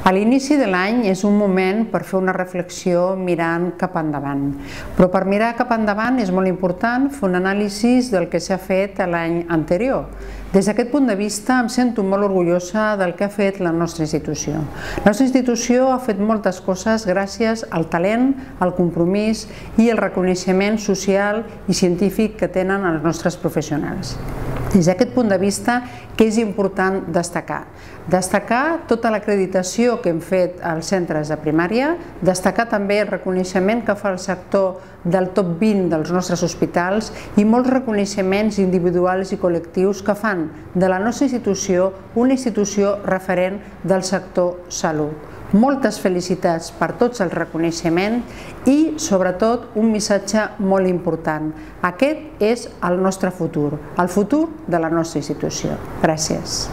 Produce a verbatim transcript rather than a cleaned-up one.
A l'inici de l'any és un moment per fer una reflexió mirant cap endavant, però per mirar cap endavant és molt important fer un anàlisi del que s'ha fet l'any anterior. Des d'aquest punt de vista em sento molt orgullosa del que ha fet la nostra institució. La nostra institució ha fet moltes coses gràcies al talent, al compromís i al reconeixement social i científic que tenen els nostres professionals. Des d'aquest punt de vista, què és important destacar? Destacar tota l'acreditació que hem fet als centres de primària, destacar també el reconeixement que fa el sector del top vint dels nostres hospitals i molts reconeixements individuals i col·lectius que fan de la nostra institució una institució referent del sector salut. Moltes felicitats per tots els reconeixements i, sobretot, un missatge molt important. Aquest és el nostre futur, el futur de la nostra institució. Gràcies.